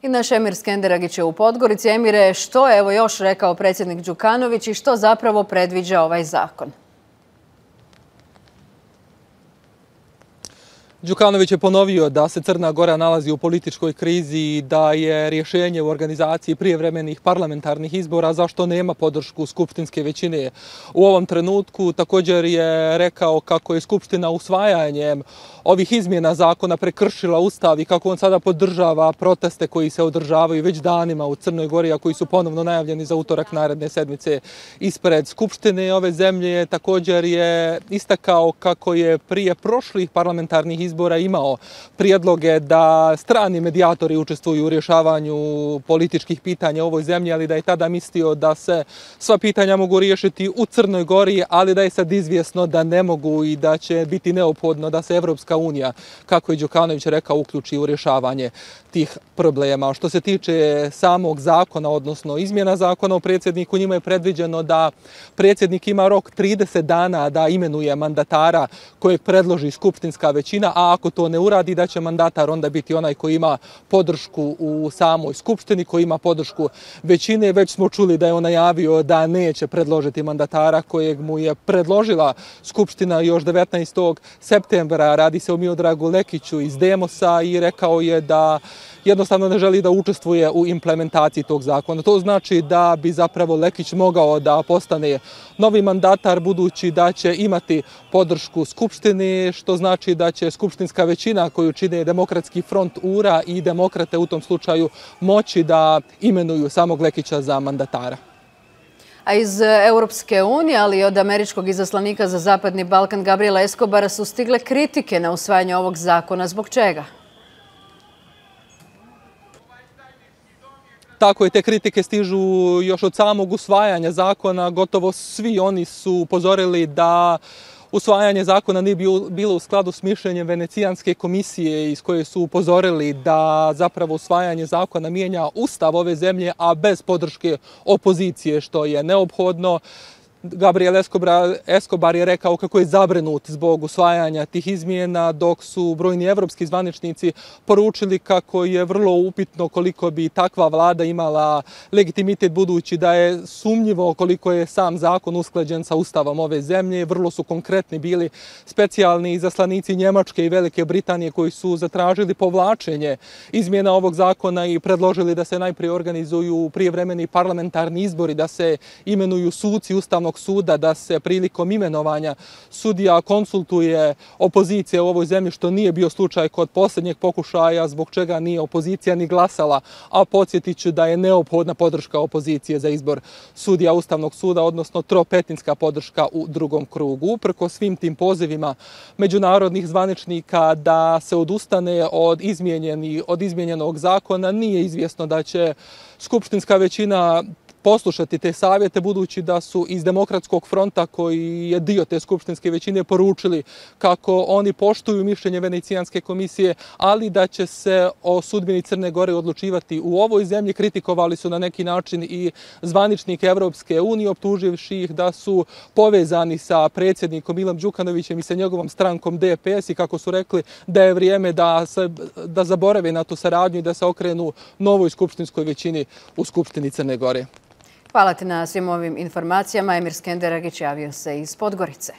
I naš Emir Skenderagić je u Podgorici. Emire, što je još rekao predsjednik Đukanović i što zapravo predviđa ovaj zakon? Đukanović je ponovio da se Crna Gora nalazi u političkoj krizi i da je rješenje u organizaciji prijevremenih parlamentarnih izbora zašto nema podršku skupštinske većine u ovom trenutku. Također je rekao kako je Skupština usvajanjem ovih izmjena zakona prekršila Ustav i kako on sada podržava proteste koji se održavaju već danima u Crnoj Gori, a koji su ponovno najavljeni za utorak naredne sedmice ispred Skupštine ove zemlje. Također je istakao kako je prije prošlih parlamentarnih izbora imao prijedloge da strani medijatori učestvuju u rješavanju političkih pitanja u ovoj zemlji, ali da je tada mislio da se sva pitanja mogu riješiti u Crnoj Gori, ali da je sad izvjesno da ne mogu i da će biti neophodno da se Evropska unija, kako je Đukanović rekao, uključi u rješavanje tih problema. Što se tiče samog zakona, odnosno izmjena zakona o predsjedniku, njima je predviđeno da predsjednik ima rok 30 dana da imenuje mandatara kojeg predloži skupštinska većina, a ako to ne uradi, da će mandatar onda biti onaj koji ima podršku u samoj skupštini, koji ima podršku većine. Već smo čuli da je on najavio da neće predložiti mandatara kojeg mu je predložila skupština još 19. septembra. Radi se o Miodragu Lekiću iz Demosa i rekao je da jednostavno ne želi da učestvuje u implementaciji tog zakona. To znači da bi zapravo Lekić mogao da postane novi mandatar, budući da će imati podršku Skupštine, što znači da će skupštinska većina koju čine Demokratski front URA i Demokrate u tom slučaju moći da imenuju samog Lekića za mandatara. A iz Europske unije, ali i od američkog izaslanika za Zapadni Balkan Gabriela Escobara su stigle kritike na usvajanje ovog zakona. Zbog čega? Tako je, te kritike stižu još od samog usvajanja zakona. Gotovo svi oni su upozorili da usvajanje zakona nije bilo u skladu s mišljenjem Venecijanske komisije, iz koje su upozorili da zapravo usvajanje zakona mijenja Ustav ove zemlje, a bez podrške opozicije, što je neophodno. Gabriel Escobar je rekao kako je zabrinut zbog usvajanja tih izmjena, dok su brojni evropski zvaničnici poručili kako je vrlo upitno koliko bi takva vlada imala legitimitet, budući da je sumnjivo koliko je sam zakon usklađen sa Ustavom ove zemlje. Vrlo su konkretni bili specijalni izaslanici Njemačke i Velike Britanije koji su zatražili povlačenje izmjena ovog zakona i predložili da se najprije organizuju prijevremeni parlamentarni izbori, da se imenuju suci Ustavnog suda, da se prilikom imenovanja sudija konsultuje opozicija u ovoj zemlji, što nije bio slučaj kod posljednjeg pokušaja, zbog čega nije opozicija ni glasala, a podsjetit ću da je neophodna podrška opozicije za izbor sudija Ustavnog suda, odnosno tropetinska podrška u drugom krugu. Uprkos svim tim pozivima međunarodnih zvaničnika da se odustane od izmijenjenog zakona, nije izvjesno da će skupštinska većina poslušati te savjete, budući da su iz Demokratskog fronta, koji je dio te skupštinske većine, poručili kako oni poštuju mišljenje Venecijanske komisije, ali da će se o sudbini Crne Gore odlučivati u ovoj zemlji. Kritikovali su na neki način i zvaničnike Evropske unije, optuživši ih da su povezani sa predsjednikom Milom Đukanovićem i sa njegovom strankom DPS, i kako su rekli da je vrijeme da zaborave na tu saradnju i da se okrenu novoj skupštinskoj većini u Skupštini Crne Gore. Hvala ti na svim ovim informacijama. Emir Skenderagić javio se iz Podgorice.